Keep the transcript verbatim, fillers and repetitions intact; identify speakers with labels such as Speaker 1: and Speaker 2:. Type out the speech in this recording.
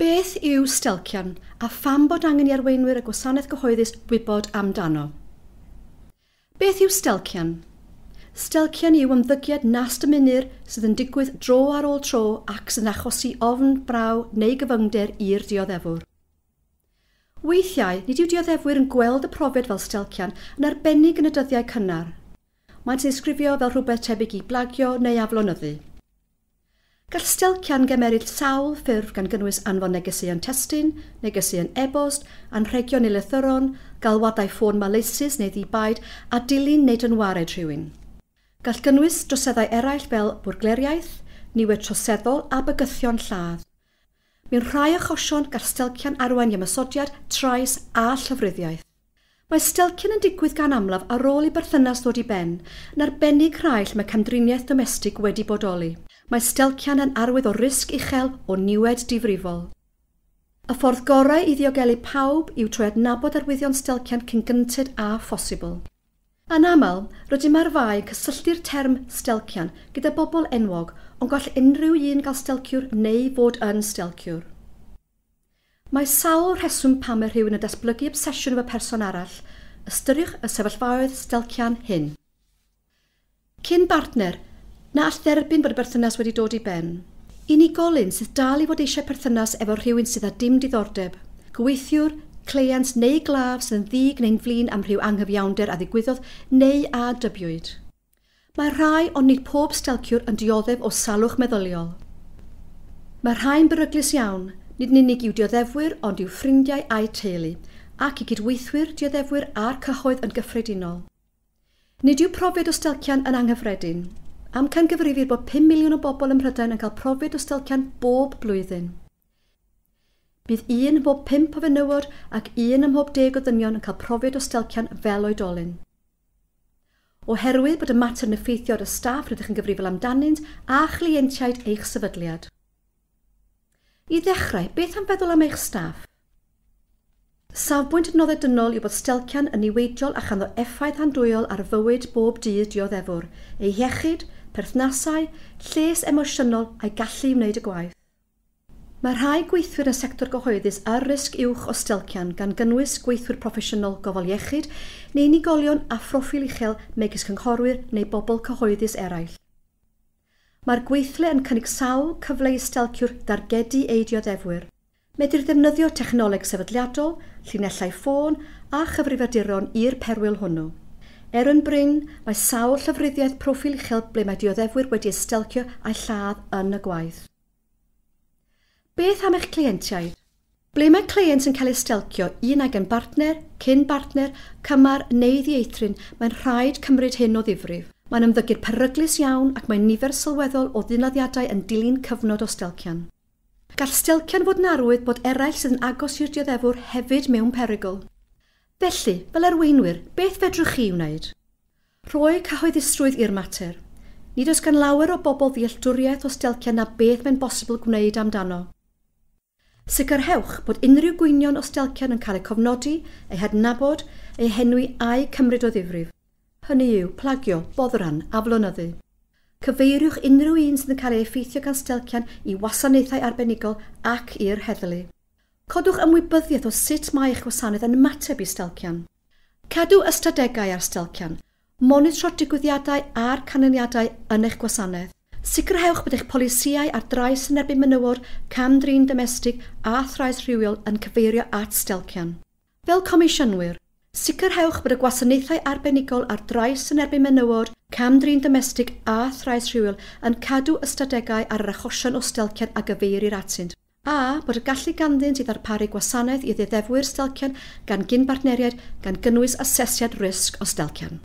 Speaker 1: Beth yw stelcian a pham bod angen i arweinwyr y gwasanaeth gyhoeddus wybod amdano? Beth yw stelcian? Stelcian yw ymddygiad nas dymunir sydd yn digwydd dro ar ôl tro ac sy'n achosi ofn, braw neu gyfyngder i'r dioddefwr. Weithiau, nid yw dioddefwyr yn gweld y profiad fel stelcian yn arbennig yn y dyddiau cynnar. Maent yn disgrifio fel rhywbeth tebyg i blagio neu aflonyddu. Gall stelcian gymeryd sawl ffurf gan gynnwys anfon negeseuon testun, negeseuon e-bost, anrhegion neu lythyron, galwadau ffôn maleisus neu ddi-baid a dilyn neu dynwared rhywun. Gall gynnwys droseddau eraill fel bwrgleriaeth, niwed troseddol a bygythion lladd. Mewn rhai achosion, gall stelcian arwain i ymosodiad, trais a llofruddiaeth. Mae stelcian yn digwydd gan amlaf ar ôl i berthynas ddod i ben, yn arbennig rhai lle mae camdriniaeth domestig wedi bodoli. Mae stelcian yn arwydd o risg uchel o niwed difrifol. Y ffordd gorau i ddiogelu pawb yw trwy adnabod arwyddion stelcian cyn gynted â phosibl. Yn aml, rydym ar fai yn cysylltu'r term stelcian gyda bobl enwog, ond gall unrhyw un gael stelciwr neu fod yn stelciwr. Mae sawl rheswm pam mae rhywun yn datblygu obsesiwn efo person arall. Ystyriwch y sefyllfaoedd stelcian hyn. Cyn bartner, na all dderbyn bod y berthynas wedi dod i ben. Unigolyn sydd dal i fod eisiau perthynas efo rhywun sydd â dim diddordeb. Gweithiwr, cleient neu glaf sydd yn ddig neu'n flin am rhyw anghyfiawnder a ddigwyddodd neu a dybiwyd. Mae rhai, ond nid pob stelciwr yn dioddef o salwch meddyliol. Mae rhai'n beryglus iawn, nid yn unig i'w dioddefwyr ond i'w ffrindiau a'u teulu, ac i gydweithwyr, dioddefwyr a'r cyhoedd yn gyffredinol. Nid yw profiad o stelcian yn anghyffredin. Amcangyfrifir bod pum miliwn o bobl ym Mhrydain yn cael profiad o stelcian bob blwyddyn. Bydd un ym mhob pump o fenywod ac un ym mhob deg o ddynion yn cael profiad o stelcian fel oedolyn. Oherwydd bod y mater yn effeithio ar y staff rydych yn gyfrifol amdanynt a chleientiaid eich sefydliad. I ddechrau, beth am feddwl am eich staff? Safbwynt adnoddau dynol yw bod stelcian yn niweidiol a chanddo effaith andwyol ar fywyd bob dydd dioddefwr, ei iechyd, perthnasau, lles emosiynol a'i gallu i wneud y gwaith. Mae rhai gweithwyr yn y sector gyhoeddus ar risg uwch o stelcian gan gynnwys gweithwyr proffesiynol gofal iechyd neu unigolion â phroffil uchel megis cynghorwyr neu bobl cyhoeddus eraill. Mae'r gweithle yn cynnig sawl cyfle i stelciwr dargedu ei dioddefwyr. Medrir ddefnyddio technoleg sefydliadol, llinellau ffôn a chyfrifiaduron i'r perwyl hwnnw. Er yn brin, mae sawl llofruddiaeth proffil uchel ble mae dioddefwyr wedi eu stelcio a'u lladd yn y gwaith. Beth am eich cleientiaid? Ble mae cleient yn cael ei stelcio, un ag yn bartner, cyn bartner, cymar neu ddieithryn, mae'n rhaid cymryd hyn o ddifrif. Mae'n ymddygiad peryglus iawn ac mae nifer sylweddol o ddynladdiadau yn dilyn cyfnod o stelcian. Gall stelcian fod yn arwydd bod eraill sydd yn agos i'r dioddefwr hefyd mewn perygl. Felly, fel arweinwyr, beth fedrwch chi wneud? Rhoi cyhoeddusrwydd i'r mater. Nid oes gan lawer o bobl ddealltwriaeth o stelcian na beth mae'n bosibl gwneud amdano. Sicrhewch bod unrhyw gwynion o stelcian yn cael eu cofnodi, eu hadnabod, eu henwi a'u cymryd o ddifrif. Hynny yw, plagio, boddran, aflonyddu. Cyfeiriwch unrhyw un sydd yn cael ei effeithio gan stelcian i wasanaethau arbenigol ac i'r heddlu. Codwch ymwybyddiaeth o sut mae eich gwasanaeth yn ymateb i stelcian. Cadw ystadegau ar stelcian. Monitro digwyddiadau a'r canlyniadau yn eich gwasanaeth. Sicrhewch bod eich polisïau ar drais yn erbyn menywod, cam-drin domestig a thrais rhywiol yn cyfeirio at stelcian. Fel comisiynwyr, sicrhewch bod y gwasanaethau arbenigol ar drais yn erbyn menywod, cam-drin domestig a thrais rhywiol yn cadw ystadegau ar yr achosion o stelcian a gyfeirir atynt, a bod y gallu ganddynt i ddarparu gwasanaeth i ddioddefwyr stelcian gan gyn-bartneriaid gan gynnwys asesiad risg o stelcian.